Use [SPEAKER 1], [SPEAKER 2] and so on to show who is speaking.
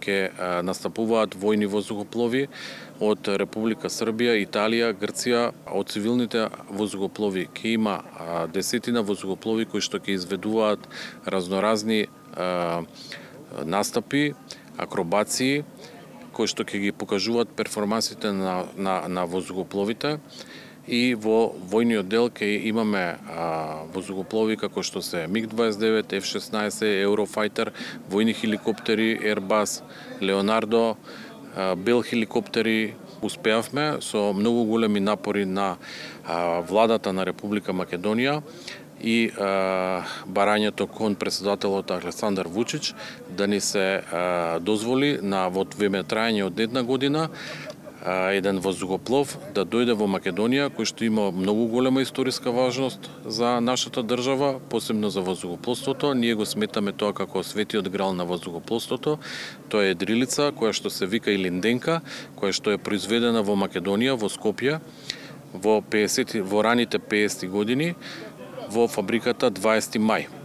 [SPEAKER 1] ќе настапуваат војни воздухоплови од Република Србија, Италија, Грција. Од цивилните воздухоплови ќе има десетина воздухоплови кои што ќе изведуваат разноразни настапи, акробации, кои што ќе ги покажуваат перформансите на воздухопловите. И во војниот дел ќе имаме воздухоплови како што се МиГ-29, F-16, Eurofighter, војни хеликоптери, Airbus, Leonardo, Bell хеликоптери. Успеавме со многу големи напори на владата на Република Македонија и барањето кон председателот Александар Вучич да ни се дозволи во време трајање од една година еден воздухоплов да дојде во Македонија, кој што има многу голема историска важност за нашата држава, посебно за воздухопловството. Ние го сметаме тоа како светиот грал на воздухопловството. Тоа е дрилица која што се вика Илинденка, која што е произведена во Македонија, во Скопје, во раните 50 години во фабриката 20 мај.